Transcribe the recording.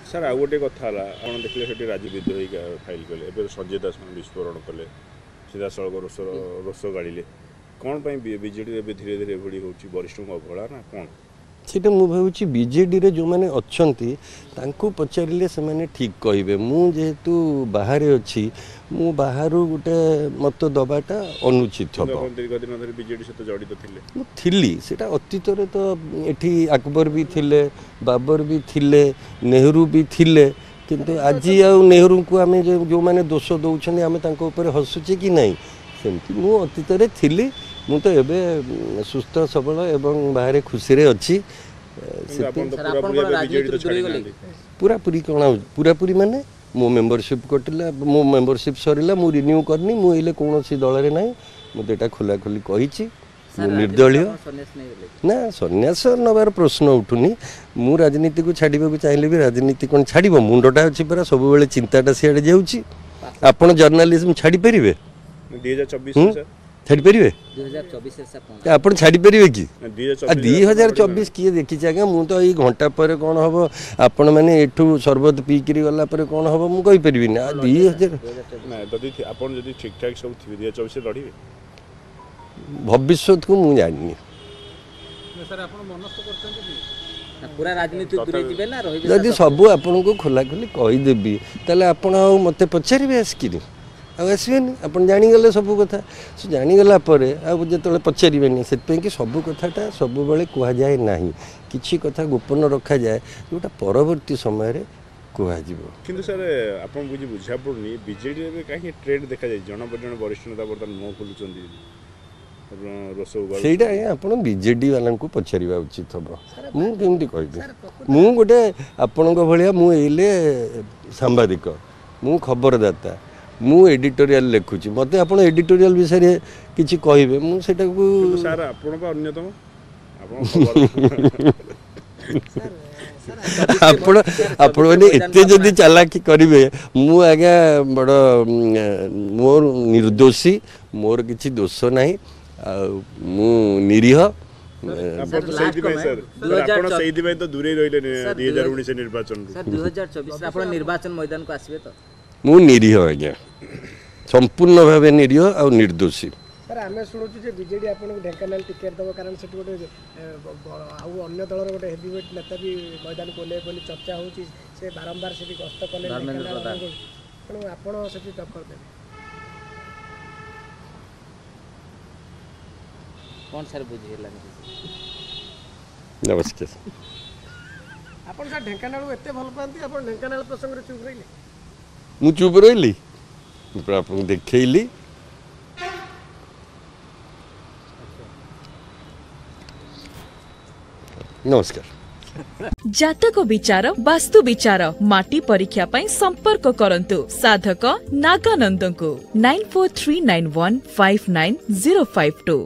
Sir, ଆଉ ଗୋଟେ କଥା ହେଲା, ଆପଣ ଦେଖିଲେ ସେଠି ରାଜୁ ବିଦ୍ରୋହୀ ଫାଇଲ୍ କଲେ, ଏବେ ସଞ୍ଜୟ ଦାସ ବିସ୍ଫୋରଣ କଲେ, ସିଧାସଳଖ ରୋଷ ଗାଳିଲେ। କ'ଣ ପାଇଁ ବିଜେଡିରେ ଏବେ ଧୀରେ ଧୀରେ ଏଭଳି ହେଉଛି? ବରିଷ୍ଠଙ୍କ ଅବହେଳା ନା କ'ଣ? ସେଇଟା ମୁଁ ଭାବୁଛି ବିଜେଡ଼ିରେ ଯେଉଁମାନେ ଅଛନ୍ତି ତାଙ୍କୁ ପଚାରିଲେ ସେମାନେ ଠିକ୍ କହିବେ। ମୁଁ ଯେହେତୁ ବାହାରେ ଅଛି, ମୁଁ ବାହାରୁ ଗୋଟେ ମତ ଦେବାଟା ଅନୁଚିତ ହେବ। ଆପଣ ଦୀର୍ଘ ଦିନ ଧରି ବିଜେଡି ସହିତ ଜଡ଼ିତ ଥିଲେ। ମୁଁ ଥିଲି, ସେଇଟା ଅତୀତରେ ତ ଏଠି ଆକବର ବି ଥିଲେ, ବାବର ବି ଥିଲେ, ନେହେରୁ ବି ଥିଲେ, କିନ୍ତୁ ଆଜି ଆଉ ନେହେରୁଙ୍କୁ ଆମେ ଯେଉଁମାନେ ଦୋଷ ଦେଉଛନ୍ତି ଆମେ ତାଙ୍କ ଉପରେ ହସୁଛେ କି ନାହିଁ? ସେମିତି ମୁଁ ଅତୀତରେ ଥିଲି। ମୁଁ ତ ଏବେ ସୁସ୍ଥ ସବଳ ଏବଂ ବାହାରେ ଖୁସିରେ ଅଛି। କିନ୍ତୁ ଆପଣ ତ ପୁରାପୁରି ଏବେ ବିଜେଡି ତ ଛାଡ଼ି ନାହାନ୍ତି। ପୁରାପୁରି କ'ଣ? ପୁରାପୁରି ମାନେ ମୋ ମେମ୍ବରସିପ୍ କଟିଲା, ମୋ ମେମ୍ବରସିପ୍ ସରିଲା, ମୁଁ ରିନ୍ୟୁ କରିନି। ମୁଁ ଏଇଲେ କୌଣସି ଦଳରେ ନାହିଁ। ମୁଁ ତ ଏଇଟା ଖୋଲାଖୋଲି କହିଛି, ମୁଁ ନିର୍ଦ୍ଦଳୀୟ। ନା, ସନ୍ନ୍ୟାସ ନେବାର ପ୍ରଶ୍ନ ଉଠୁନି। ମୁଁ ରାଜନୀତିକୁ ଛାଡ଼ିବାକୁ ଚାହିଁଲେ ବି ରାଜନୀତି କ'ଣ ଛାଡ଼ିବ? ମୁଣ୍ଡଟା ଅଛି ପରା, ସବୁବେଳେ ଚିନ୍ତାଟା ସିଆଡ଼େ ଯାଉଛି। ଆପଣ ଜର୍ଣ୍ଣାଲିଜମ୍ ଛାଡ଼ିପାରିବେ? 2024 ସାର୍ ଛାଡ଼ିପାରିବେ ଆପଣ? ଛାଡ଼ିପାରିବେ କି? 2024 2024 କିଏ ଦେଖିଛି ଆଜ୍ଞା? ମୁଁ ତ ଏଇ ଘଣ୍ଟା ପରେ କ'ଣ ହେବ, ଆପଣମାନେ ଏଠୁ ସରବତ ପିଇକିରି ଗଲା ପରେ କ'ଣ ହେବ ମୁଁ କହିପାରିବିନି। ଆଉ 2000 ନା, ଯଦି ଆପଣ ଯଦି ଠିକ୍ ଠାକ୍ ସବୁ ଥିବେ, 2024 ଲଢ଼ିବେ? ଭବିଷ୍ୟତକୁ ମୁଁ ଜାଣିନି। ପୁରା ରାଜନୀତି ଦୂରେଇ ଯିବେ ନା ରହିବେ? ଯଦି ସବୁ ଆପଣଙ୍କୁ ଖୋଲାଖୋଲି କହିଦେବି, ତାହେଲେ ଆପଣ ଆଉ ମୋତେ ପଚାରିବେ ଆସିକିରି? ଆଉ ଆସିବେନି। ଆପଣ ଜାଣିଗଲେ ସବୁ କଥା, ସେ ଜାଣିଗଲା ପରେ ଆଉ ଯେତେବେଳେ ପଚାରିବେନି। ସେଥିପାଇଁ କି ସବୁ କଥାଟା ସବୁବେଳେ କୁହାଯାଏ ନାହିଁ। କିଛି କଥା ଗୋପନ ରଖାଯାଏ, ଯେଉଁଟା ପରବର୍ତ୍ତୀ ସମୟରେ କୁହାଯିବ। କିନ୍ତୁ ସାର୍, ଆପଣ ବୁଝା ପଡ଼ୁନି, ବିଜେଡିରେ ଏବେ କାହିଁକି ଟ୍ରେଣ୍ଡ ଦେଖାଯାଇଛି, ଜଣ ପରେ ଜଣେ ବରିଷ୍ଠ ନେତା ବର୍ତ୍ତମାନ ମୁହଁ ଖୋଲୁଛନ୍ତି, ଆପଣ ରୋଷ ଉଗାଳୁଛନ୍ତି। ସେଇଟା ଆଜ୍ଞା ଆପଣ ବିଜେଡି ବାଲାଙ୍କୁ ପଚାରିବା ଉଚିତ ହେବ, ମୁଁ କେମିତି କହିବି? ମୁଁ ଗୋଟେ ଆପଣଙ୍କ ଭଳିଆ, ମୁଁ ଏଇଲେ ସାମ୍ବାଦିକ, ମୁଁ ଖବରଦାତା, ମୁଁ ଏଡିଟୋରିଆଲ ଲେଖୁଛି। ମୋତେ ଆପଣ ଏଡିଟୋରିଆଲ ବିଷୟରେ କିଛି କହିବେ, ମୁଁ ସେଇଟାକୁ କିନ୍ତୁ ସାର୍, ଆପଣ ବା ଅନ୍ୟତମ, ଆପଣ ଖବର ଆପଣମାନେ ଏତେ ଯଦି ଚାଲାକି କରିବେ, ମୁଁ ଆଜ୍ଞା ବଡ଼ ମୋର ନିର୍ଦ୍ଦୋଷୀ, ମୋର କିଛି ଦୋଷ ନାହିଁ ଆଉ ମୁଁ ନିରୀହ। ଆପଣ ତ ସେଇଥିପାଇଁ ସାର୍, ଆପଣ ସେଇଥିପାଇଁ ତ ଦୂରେଇ ରହିଲେ 2019 ନିର୍ବାଚନରୁ। ସାର୍, 2024 ଆପଣ ନିର୍ବାଚନ ମଇଦାନକୁ ଆସିବେ ତ? ମୁଁ ନିରୀହ ଆଜ୍ଞା, ସମ୍ପୂର୍ଣ୍ଣ ଭାବେ ନିରୀହ ଆଉ ନିର୍ଦ୍ଦୋଷୀ। ସାର୍, ଆମେ ଶୁଣୁଛୁ ଯେ ବିଜେଡି ଆପଣଙ୍କୁ ଢେଙ୍କାନାଳ ଟିକେଟ୍ ଦେବ, କାରଣ ସେଠି ଗୋଟେ ଆଉ ଅନ୍ୟ ଦଳର ଗୋଟେ ହେଭିୱେଟ୍ ନେତା ବି ମଇଦାନକୁ ଓହ୍ଲେଇବେ ବୋଲି ଚର୍ଚ୍ଚା ହେଉଛି। ସେ ବାରମ୍ବାର ସେଠି ଗସ୍ତ କଲେ, ତେଣୁ ଆପଣ ସେଠି ଟକ୍କର ଦେବେ? କ'ଣ ସାର୍, ବୁଝି ହେଲାନି। ନମସ୍କାର। ଆପଣ ସାର୍ ଢେଙ୍କାନାଳକୁ ଏତେ ଭଲ ପାଆନ୍ତି, ଆପଣ ଢେଙ୍କାନାଳ ପ୍ରସଙ୍ଗରେ ଚୁପ୍ ରହିଲେ? ମୁଁ ଚୁପ୍ ରହିଲି? ମୁଁ ପୁରା ଆପଣଙ୍କୁ ଦେଖେଇଲି। ନମସ୍କାର। ଜାତକ ବିଚାର, ବାସ୍ତୁ ବିଚାର, ମାଟି ପରୀକ୍ଷା ପାଇଁ ସମ୍ପର୍କ କରନ୍ତୁ ସାଧକ ନାଗାନନ୍ଦଙ୍କୁ 9439159052।